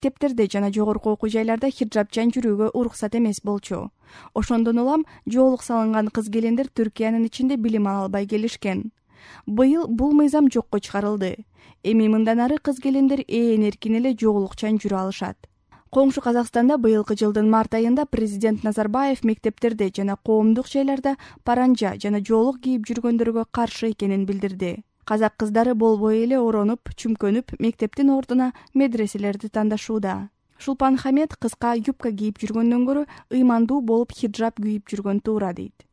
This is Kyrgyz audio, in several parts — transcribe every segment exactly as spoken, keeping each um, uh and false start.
Мектептерде жана жогорку окуу жайларда хиджабчан жүрүүгө уруксат эмес болчу. Ошондон улам жоолук салынган кыз-келиндер Түркиянын ичинде билим ала албай келишкен. Быйыл бул мыйзам жокко чыгарылды. Эми мындан ары кыз-келиндер ээн эркин эле жоолукчан жүрө алышат. Коңшу Казакстанда быйылкы жылдын март айында президент Назарбаев мектептерде жана коомдук жайларда паранжа жана жоолук кийип жүргөндөргө каршы экенин билдирди. Казак кыздары болбой эле оронуп, чүмкөнүп, мектептин ордуна медреселерди тандашууда. Шулпан Хамед кыска юбка кийип жүргөндөн көрө ыймандуу болуп хиджаб кийип жүргөн туура дейт.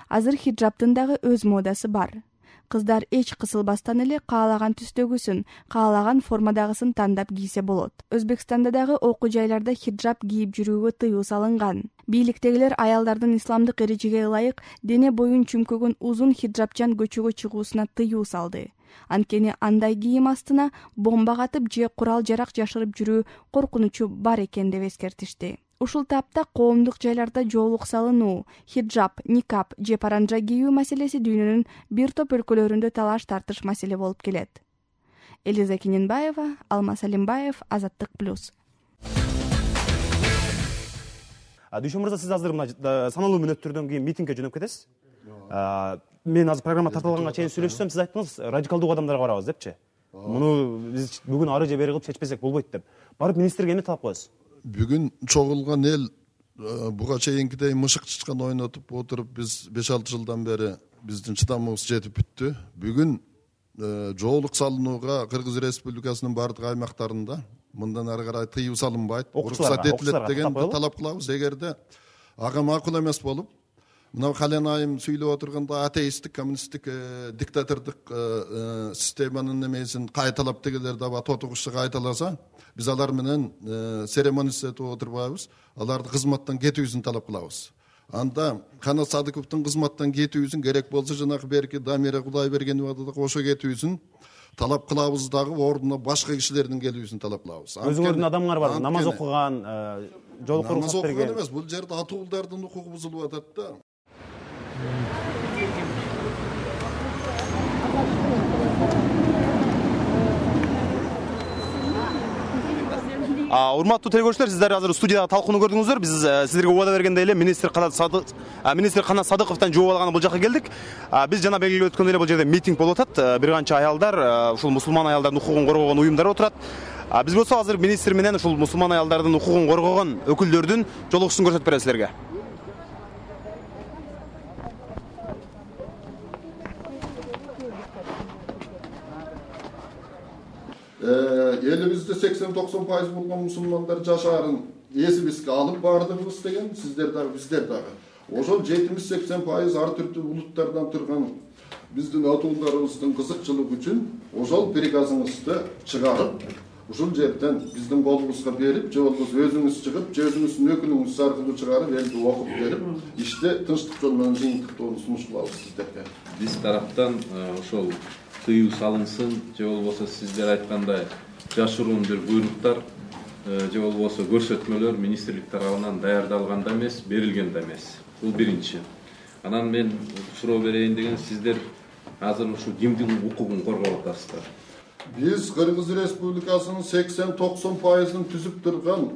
Азыр хиджабтын дагы өз модасы бар. Кыздар эч кысылбастан эле каалаган түстөгүсүн, каалаган формадагысын тандап кийсе болот. Өзбекстанда дагы окуу жайларда хиджаб кийип жүрүүгө тыюу салынган. Бийликтегилер аялдардын исламдык эрежеге ылайык дене боюн чүмкөгөн узун хиджабчан көчөгө чыгуусуна тыюу салды. Анткени андай кийим астына бомба катып же курал-жарак жашырып жүрүү коркунучу бар экен деп эскертишти. Ушул тапта коомдук жайларда жоолук салынуу, хиджаб, никап же паранжа кийүү маселеси дүйнөнүн бир топ өлкөлөрүндө талаш-тартыш маселе болуп келет. Элиза Кененбаева, Алмаз Алимбаев, Азаттык плюс. Дүйшөн мырза, сиз азыр мына саналуу мүнөттөрдөн кийин митингге жөнөп кетесиз. Мен азыр программа тартылганга чейин сүйлөшсөм, сиз айттыңыз, радикалдуу кадамдарга барабыз депчи. Муну биз бүгүн ары же бери кылып чечпесек болбойт деп. Барып министрге эмне талап коесуз? Бүгүн чогулган эл буга чейинкидей мышык чычкан ойнотуп отуруп биз беш алты жылдан бери биздин чыдамыбыз жетип бүттү. Бүгүн жоолук салынууга Кыргыз Республикасынын бардык аймактарында мындан ары карай тыюу салынбайт, уруксат этилет деген талап кылабыз. Эгерде ага макул эмес болуп, мына Кален айым сүйлөп отурганда атеисттик, коммунисттик, диктатордук системанын немесин кайталап дегелер даба тотугушчу кайталаса, биз алар менен церемонистетип отурбайбыз, аларды кызматтан кетүүсүн талап кылабыз. Анда Канат Садыковдун кызматтан кетүүсүн, керек болсо жанагы берки Дамира Кудайбергенова да кошо кетүүсүн талап кылабыз дагы, ордуна башка кишилердин келүүсүн талап кылабыз. Өзүңөрдүн адамыңар бар, намаз окуган, жоолукка уруксат берген. Намаз окуган эмес, бул жерде атуулдардын укугу бузулуп атат да. Урматтуу телекөрүүчүлөр, сиздер азыр студияда талкууну көрдүңүздөр. Биз сиздерге убада бергендей эле министр Канат Садыков, министр Канат Садыковдон жооп алганы бул жака келдик. Биз жана белгилеп өткөндөй эле бул жерде митинг болуп атат. Бир канча аялдар, ушул мусулман аялдардын укугун коргогон уюмдар отурат. Биз болсо азыр министр менен ушул мусулман аялдардын укугун коргогон өкүлдөрдүн жолугушуусун көрсөтүп беребиз силерге. Элибизде сексен токсон пайыз болгон мусулмандар жашаарын эсибизге алып бардыгыбыз деген, сиздер дагы, биздер дагы. Ошол жетимиш сексен пайыз ар түрдүү улуттардан турган биздин атуулдарыбыздын кызыкчылыгы үчүн ошол приказыңызды чыгарып, ушул жерден биздин колубузга берип, же болбосо өзүңүз чыгып, же өзүңүздүн өкүлүңүз аркылуу чыгарып, элди окуп берип, иште тынчтык жол менен жыйынтыктоону сунуш кылабыз сиздерге. Биз тараптан ошол тыюу салынсын, же болбосо сиздер айткандай жашыруун бир буйруктар, же болбосо көрсөтмөлөр министрлик тарабынан даярдалган да эмес, берилген да эмес. Бул биринчи. Анан мен суроо берейин деген, сиздер азыр ушу кимдин укугун коргоп атасыздар? Биз Кыргыз Республикасынын сексен токсон пайызын түзүп турган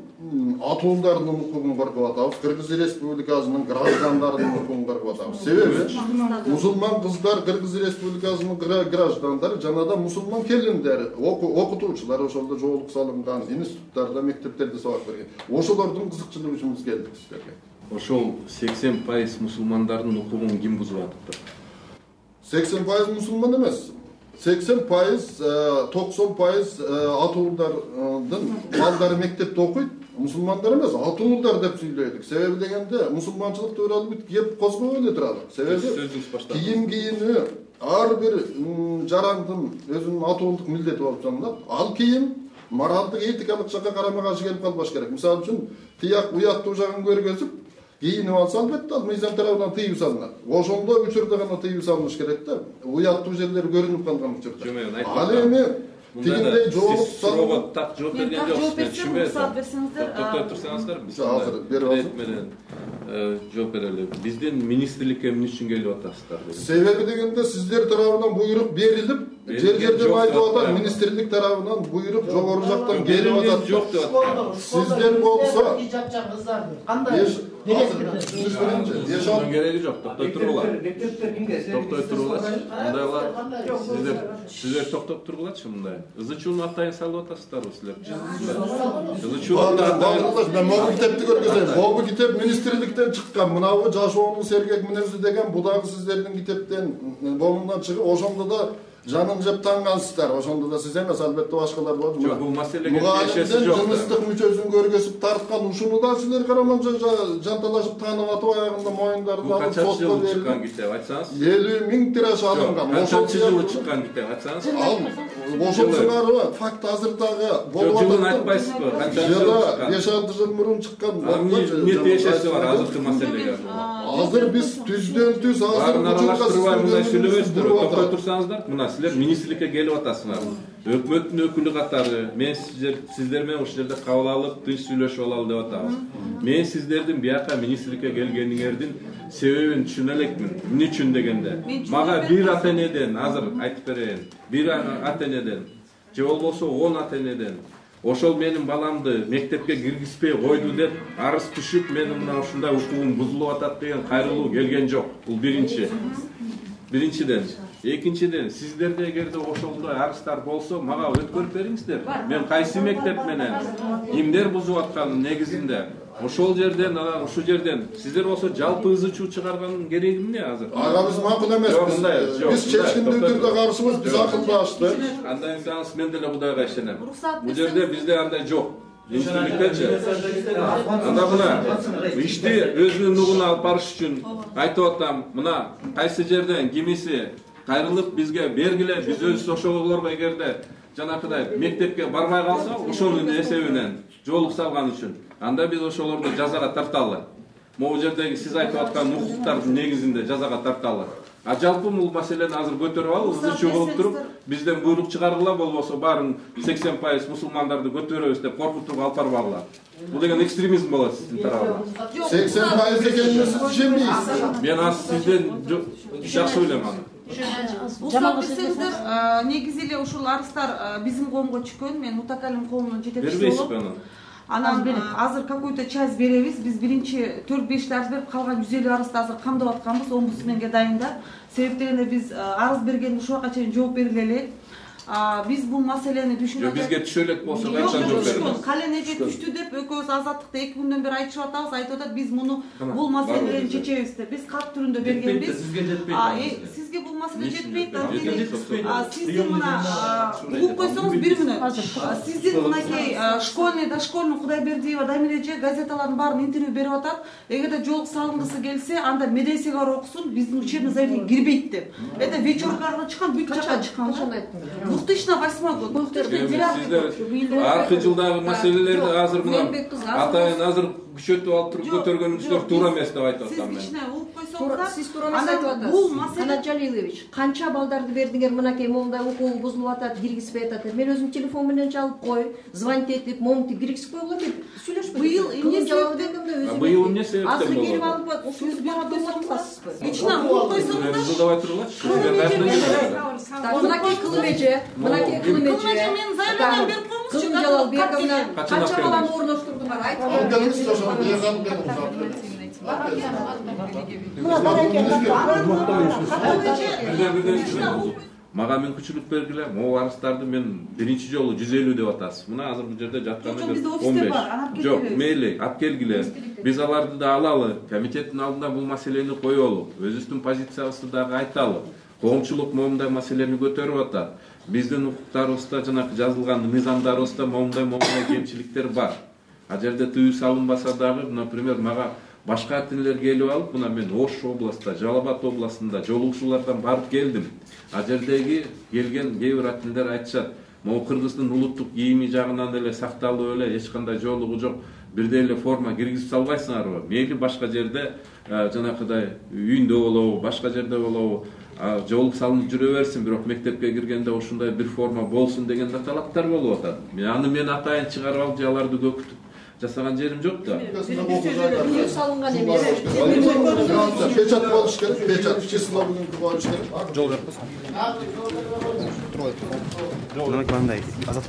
атуулдардын укугун коргоп атабыз. Кыргыз Республикасынын граждандарынын укугун коргоп атабыз. Себеби мусулман кыздар Кыргыз Республикасынын граждандары, жана да мусулман келиндер, окутуучулар ошолдо жоолук салынган, институттарда, мектептерде сабак берген. Ошолордун кызыкчылыгы үчүн биз келдик сиздерге. Ошол сексен пайыз мусулмандардын укугун ким бузуп атыптыр? сексен пайыз мусулман эмес. сексен пайыз, токсон пайыз атуулдардын балдары мектепте окуйт, мусулмандар эмес, атуулдар деп сүйлөйдүк. Себеби дегенде мусулманчылык тууралуу бүт кеп козгобой эле туралык. Себеби кийим кийими ар бир жарандын өзүнүн атуулдук милдети болуп саналат. Ал кийим моралдык, этикалык жакка карама каршы келип калбаш керек. Мисалы үчүн тияк уяттуу жагын көргөзүп, кийинип алса, албетте ал мыйзам тарабынан тыюу салынат. Ошондой учурда гана тыюу салыныш керек да. Уяттуу жерлер көрүнүп калган учурда. Ал эми тигиндей жоолук салып так жооп берген жоксуз. Түшүнбөйм. Токтоп турсаңыздар, биз азыр берип менен жооп берели. Биздин министрликке эмне үчүн келип атасыздар? Себеби дегенде сиздер тарабынан буйрук берилип, жер жер деп айтып атат, министрлик тарабынан буйрук жогору жактан келип атат. Жок деп атат. Сиздер болсо жапчан кыздарды кандай Ешонун кереги жок, токтой тургула. Токтой тургула. Мындайлар сиздер сиздер токтоп тургулачы мындай. Ызы чууну атайын салып атасыздарбы силер? Ызы чууну атайын. Мен могу китепти көргөзөйм. Могу китеп министрликтен чыккан. Мынабы жашоонун сергек мүнөзү деген бу дагы сиздердин китептен болундан чыгып, ошондо да жанын жеп тангансыздар. Ошондо да сиз эмес, албетте башкалар бар. Жок, бул маселеге тиешеси жок. Жыныстык мүчөсүн көргөзүп тарткан, ушуну да силер караманча жанталашып таанып атып, аягында моюндарын алып сотко берилди. Чыккан китеп айтсаңыз? элүү миң тираж алынган. Ошончо жылы чыккан китеп айтсаңыз? Ошонсуңарбы? Факт азыр дагы болуп атат. Жылын айтпайсызбы? Канча жыл чыккан? беш алты жыл мурун чыккан. Эмне тиешеси бар азыркы маселеге? Азыр биз түздөн түз азыр баарын аралаштырбай мындай сүйлөбөйсүздөр. Токтой турсаңыздар, мына силер министрликке келип атасыңар. Өкмөттүн өкүлү катары мен сиздер сиздер менен ушул жерде кабыл алып, тынч сүйлөшүп алалы деп атабыз. Мен сиздердин бияка министрликке келгениңердин себебин түшүнө элекмин. Эмне үчүн дегенде, мага бир ата энеден азыр айтып берейин. Бир ата энеден же болбосо он ата энеден ошол менин баламды мектепке киргизбей койду деп арыз түшүп, менин мына ушундай укугум бузулуп атат деген кайрылуу келген жок. Бул биринчи. Биринчиден. Экинчиден, сиздерде эгерде ошондой арыздар болсо, мага өткөрүп бериңиздер. Мен кайсы мектеп менен эмдер бузуп атканын негизинде ошол жерден, анан ушул жерден сиздер болсо жалпы ызы чуу чыгарганын кереги эмне азыр? Ага биз макул эмеспиз. Биз чечкиндүү түрдө каршыбыз, биз акылдаштык. Андай десаңыз мен деле Кудайга ишенем. Бул жерде бизде андай жок. Министрликтечи. Анда мына ишти өзүнүн нугуна алып барыш үчүн айтып атам, мына кайсы жерден кимиси кайрылып бизге бергиле, биз өзүбүз ошолорго эгерде жанакыдай мектепке барбай калса, ошонун эсебинен жоолук салган үчүн анда биз ошолорду жазага тарталы. Могу жердеги сиз айтып аткан укуктардын негизинде жазага тарталы. А жалпы бул маселени азыр көтөрүп алып, ызы чуу кылып туруп, бизден буйрук чыгаргыла, болбосо баарын сексен пайыз мусулмандарды көтөрөбүз деп коркутуп алып барбагыла. Бул деген экстремизм болот сиздин тарабыңыздан. сексен пайыз экенине сиз ишенбейсиз. Мен аз сизден жакшы билем аны. Уруксат берсеңиздер, негизи эле ушул арыздар биздин коомго түшкөн. Мен Мутакалим коомунун жетекчиси болуп. Анан азыр какой-то часть беребиз. Биз биринчи төрт беш арыз берип, калган жүз элүү арызды азыр камдап атканбыз омбудсменге дайында. Себеп дегенде биз арыз бергенде ушуга чейин жооп бергиле элек. Биз бул маселени түшүнүп атабыз. Бизге түшө элек болсо качан жооп беребиз? Каленеге түштү деп экөөбүз азаттыкта эки күндөн бери айтышып атабыз. Айтып атат, биз муну бул маселени чечебиз деп. Биз кат түрүндө бергенбиз. Сизге жетпейт. Сизге бул маселе жетпейт. Сиздин мына угуп койсоңуз бир мүнөт. Сиздин мынакей школьный, дошкольный Кудайбердиева Дамира эже газеталардын баарын интервью берип атат. Эгерде жоолук салынгысы келсе, анда медресеге барып окусун, биздин учебный заведение кирбейт деп. Это вечеркага чыккан, бүт жакка чыккан. две тысячи восьмой год. Сиздер аркы жылдагы маселелерди азыр мына атайын азыр күчөтүп алып туруп көтөргөнүңүздөр туура эмес деп айтып атам мен. Сиз туура эмес айтып атасыз. Канат Жалилович, канча балдарды бердиңер, мынакей момундай укугу бузулуп атат, киргизбей атат. Мен өзүм телефон менен чалып кой, звонить этип, момунту киргизип койгула деп сүйлөшпөдүм. Быйыл эмне себептен? Быйыл эмне себептен болду? Азыр келип алып, сөз берип атасызбы? Ичинен угуп койсоңуздар. Жылдабай тургулачы. Мынакей кылым эже, мынакей кылым эже. Мен заявление берип коймузчу. Кылым Жалалбековна канча баланы орноштурдуңар? Айтып Мага мүмкүнчүлүк бергиле, могу арыздарды мен биринчи жолу жүз элүү деп атасыз. Мына азыр бул жерде жатканы он беш. Жок, мейли, алып келгиле. Биз аларды да алалы, комитеттин алдында бул маселени коелу, өзүбүздүн позициябызды дагы айталы. Коомчулук момундай маселени көтөрүп атат. Биздин укуктарыбызда жанакы жазылган мыйзамдарыбызда момундай момундай кемчиликтер бар. А жерде тыюу салынбаса дагы, например, мага башка ата-энелер келип алып, мына мен Ош областында, Жалал Абад областында жолугушуулардан барып келдим. А жердеги келген кээ бир ата-энелер айтышат, могу кыргыздын улуттук кийими жагынан эле сакталып эле, эч кандай жоолугу жок, бирдей эле форма киргизип салбайсыңарбы? Мейли башка жерде жанакыдай үйүндө болобу, башка жерде болобу, жоолук салынып жүрө берсин, бирок мектепке киргенде ушундай бир форма болсун деген да талаптар болуп атат. Аны мен атайын чыгарып алып, аларды көкүтүп жасаган жерим жок да. Тыюу салынган эмес. Печат болуш керек, печат число бүгүнкү болуш керек. Жол берип койсоң. Турбайт. Мындай азат